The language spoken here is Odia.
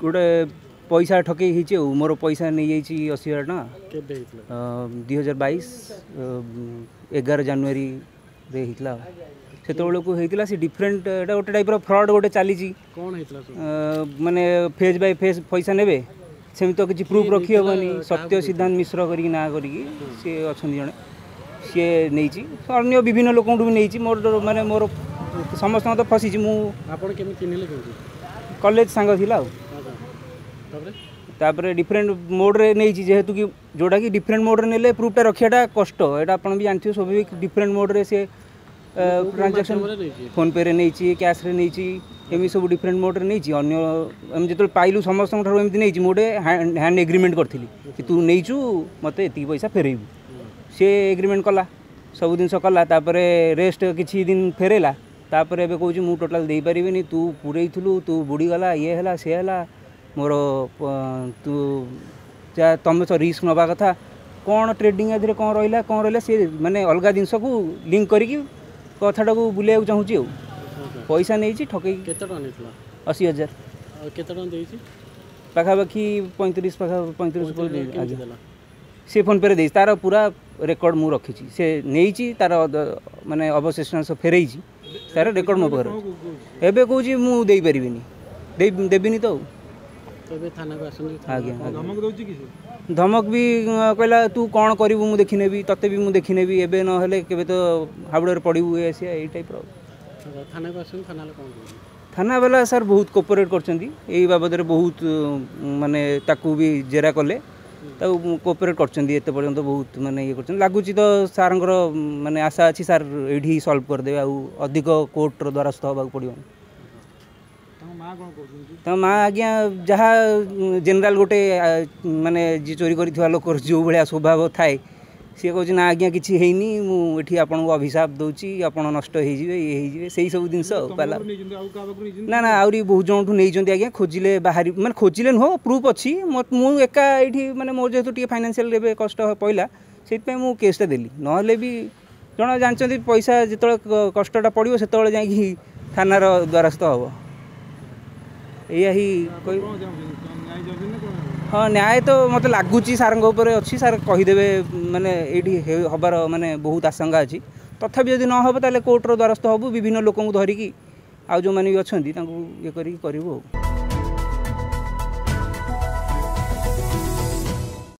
ଗୋଟେ ପଇସା ଠକେଇ ହେଇଛି ଆଉ ମୋର ପଇସା ନେଇଯାଇଛି 80,000 ଟଙ୍କା। କେବେ ହେଇଥିଲା? 2022 11 ଜାନୁଆରୀରେ ହେଇଥିଲା। ସେତେବେଳକୁ ହେଇଥିଲା ସେ ଡିଫରେଣ୍ଟ, ଏଇଟା ଗୋଟେ ଟାଇପ୍ର ଫ୍ରଡ଼୍ ଗୋଟେ ଚାଲିଛି। କ'ଣ ହେଇଥିଲା ସବୁ? ମାନେ ଫେଜ୍ ବାଇ ଫେଜ୍ ପଇସା ନେବେ, ସେମିତି ତ କିଛି ପ୍ରୁଫ୍ ରଖି ହେବନି। କାହାକୁ ସତ୍ୟ ସିଦ୍ଧାନ୍ତ ମିଶ୍ର କରିକି ନାଁ କରିକି ସିଏ ଅଛନ୍ତି ଜଣେ, ସିଏ ନେଇଛି। ଅନ୍ୟ ବିଭିନ୍ନ ଲୋକଙ୍କଠୁ ବି ନେଇଛି। ମୋର ମାନେ ମୋର ସମସ୍ତଙ୍କ ତ ଫସିଛି ମୁଁ। ଆପଣ କେମିତି ଚିହ୍ନିଲେ, କେମିତି? କଲେଜ ସାଙ୍ଗ ଥିଲା ଆଉ। ଆଚ୍ଛା, ତାପରେ? ତାପରେ ଡିଫରେଣ୍ଟ ମୋଡ଼୍ରେ ନେଇଛି, ଯେହେତୁ କି ଯେଉଁଟାକି ଡିଫରେଣ୍ଟ ମୋଡ଼୍ରେ ନେଲେ ପ୍ରୁଫ୍ଟା ରଖିବାଟା କଷ୍ଟ, ଏଇଟା ଆପଣ ବି ଜାଣିଥିବେ ସ୍ୱାଭାବିକ। ଡିଫରେଣ୍ଟ ମୋଡ଼୍ରେ ସେ ଟ୍ରାଞ୍ଜାକ୍ସନ୍ ମାଧ୍ୟମରେ ନେଇଛି? ଫୋନ୍ପେରେ ନେଇଛି, କ୍ୟାସ୍ରେ ନେଇଛି, ଏମିତି ସବୁ ଡିଫରେଣ୍ଟ ମୋଡ଼୍ରେ ନେଇଛି। ଅନ୍ୟ ଆମେ ଯେତେବେଳେ ପାଇଲୁ ସମସ୍ତଙ୍କ ଠାରୁ ଏମିତି ନେଇଛି। ମୁଁ ଗୋଟେ ହ୍ୟାଣ୍ଡ ଏଗ୍ରିମେଣ୍ଟ କରିଥିଲି କି ତୁ ନେଇଛୁ, ମୋତେ ଏତିକି ପଇସା ଫେରେଇବୁ। ସିଏ ଏଗ୍ରିମେଣ୍ଟ କଲା, ସବୁ ଜିନିଷ କଲା, ତାପରେ ରେଷ୍ଟ କିଛି ଦିନ ଫେରେଇଲା। ତାପରେ ଏବେ କହୁଛି ମୁଁ ଟୋଟାଲ୍ ଦେଇପାରିବିନି, ତୁ ପୁରେଇଥିଲୁ, ତୁ ବୁଡ଼ିଗଲା, ଇଏ ହେଲା ସିଏ ହେଲା, ମୋର ତୁ ଯାହା ତମେ ତ ରିସ୍କ ନେବା କଥା। କ'ଣ ଟ୍ରେଡ଼ିଂ ଏଥିରେ କ'ଣ ରହିଲା, କ'ଣ ରହିଲା, ସିଏ ମାନେ ଅଲଗା ଜିନିଷକୁ ଲିଙ୍କ କରିକି କଥାଟାକୁ ବୁଲେଇବାକୁ ଚାହୁଁଛି। ଆଉ ପଇସା ନେଇଛି ଠକେଇକି। କେତେ ଟଙ୍କା ନେଇଥିଲା? 80,000। ଆଉ କେତେ ଟଙ୍କା ଦେଇଛି? ପାଖାପାଖି 35, ପାଖା 35 ଉପରେ ଦେଇଛି। କେମିତି ଆଜ୍ଞା ଦେଲା? ସେ ଫୋନ୍ପେରେ ଦେଇଛି, ତାର ପୁରା ରେକର୍ଡ଼ ମୁଁ ରଖିଛି। ସେ ନେଇଛି, ତାର ମାନେ ଅବଶିଷ୍ଟାଂଶ ଫେରେଇଛି, ତାର ରେକର୍ଡ଼ ମୋ ପାଖରେ ଅଛି। ଏବେ କହୁଛି ମୁଁ ଦେଇପାରିବିନି, ଦେବିନି ତ ଆଉ। ତ ଏବେ ଥାନାକୁ ଆସନ୍ତି? ଆଜ୍ଞା ଆଜ୍ଞା। ଧମକ ଦଉଛି କି ସେ? ଧମକ ବି କହିଲା ତୁ କ'ଣ କରିବୁ ମୁଁ ଦେଖିନେବି, ତତେ ବି ମୁଁ ଦେଖିନେବି, ଏବେ ନହେଲେ କେବେ ତ ହାବୁଡ଼ରେ ପଡ଼ିବୁ, ଏ ସିଏ ଏଇ ଟାଇପ୍ର। ଥାନାକୁ ଆସନ୍ତି, ଥାନାରେ କ'ଣ କହୁଛନ୍ତି? ଥାନା ବାଲା ସାର୍ ବହୁତ କୋପରେଟ୍ କରିଛନ୍ତି ଏଇ ବାବଦରେ, ବହୁତ ମାନେ ତାକୁ ବି ଜେରା କଲେ, ତାକୁ କୋପରେଟ୍ କରିଛନ୍ତି ଏତେ ପର୍ଯ୍ୟନ୍ତ, ବହୁତ ମାନେ ଇଏ କରିଛନ୍ତି। ଲାଗୁଛି ତ ସାର୍ଙ୍କର ମାନେ ଆଶା ଅଛି ସାର୍ ଏଇଠି ସଲ୍ଭ କରିଦେବେ, ଆଉ ଅଧିକ କୋର୍ଟର ଦ୍ୱାରସ୍ଥ ହେବାକୁ ପଡ଼ିବନି। ତାଙ୍କ ମା କ'ଣ କହୁଛନ୍ତି? ତାଙ୍କ ମା ଆଜ୍ଞା ଯାହା ଜେନେରାଲ ଗୋଟେ ମାନେ ଯିଏ ଚୋରି କରିଥିବା ଲୋକର ଯେଉଁ ଭଳିଆ ସ୍ୱଭାବ ଥାଏ, ସିଏ କହୁଛି ନା ଆଜ୍ଞା କିଛି ହେଇନି, ମୁଁ ଏଠି ଆପଣଙ୍କୁ ଅଭିଶାପ ଦେଉଛି, ଆପଣ ନଷ୍ଟ ହେଇଯିବେ, ଇଏ ହେଇଯିବେ, ସେଇ ସବୁ ଜିନିଷ ଆଉ ତମ ପାଲା। ପାଖରୁ ନେଇଛନ୍ତି, ଆଉ କାହା ପାଖରୁ ନେଇଛନ୍ତି? ନା ନା, ଆହୁରି ବହୁତ ଜଣଠୁ ନେଇଛନ୍ତି ଆଜ୍ଞା। ଖୋଜିଲେ ବାହାରି, ମାନେ ଖୋଜିଲେ ନୁହଁ, ପ୍ରୁଫ୍ ଅଛି। ମୁଁ ଏକା ଏଇଠି ମାନେ ମୋର ଯେହେତୁ ଟିକେ ଫାଇନାନ୍ସିଆଲ ଏବେ କଷ୍ଟ ପଇଲା, ସେଇଥିପାଇଁ ମୁଁ କେସ୍ଟା ଦେଲି। ନହେଲେ ବି ଜଣେ ଜାଣିଛନ୍ତି ପଇସା ଯେତେବେଳେ କଷ୍ଟଟା ପଡ଼ିବ ସେତେବେଳେ ଯାଇକି ଥାନାର ଦ୍ୱାରସ୍ଥ ହେବ। ଏଇଆ ହିଁ କହିବି। କ'ଣ ଚାହୁଁଛନ୍ତି? କ'ଣ ନ୍ୟାୟ ଚାହୁଁଛନ୍ତି ନା କ'ଣ? ହଁ, ନ୍ୟାୟ ତ ମୋତେ ଲାଗୁଛି ସାର୍ଙ୍କ ଉପରେ ଅଛି, ସାର୍ କହିଦେବେ, ମାନେ ଏଇଠି ହେବାର ମାନେ ବହୁତ ଆଶଙ୍କା ଅଛି। ତଥାପି ଯଦି ନ ହେବ ତାହେଲେ କୋର୍ଟର ଦ୍ୱାରସ୍ଥ ହେବୁ, ବିଭିନ୍ନ ଲୋକଙ୍କୁ ଧରିକି ଆଉ ଯେଉଁମାନେ ବି ଅଛନ୍ତି ତାଙ୍କୁ ଇଏ କରିକି କରିବୁ ଆଉ।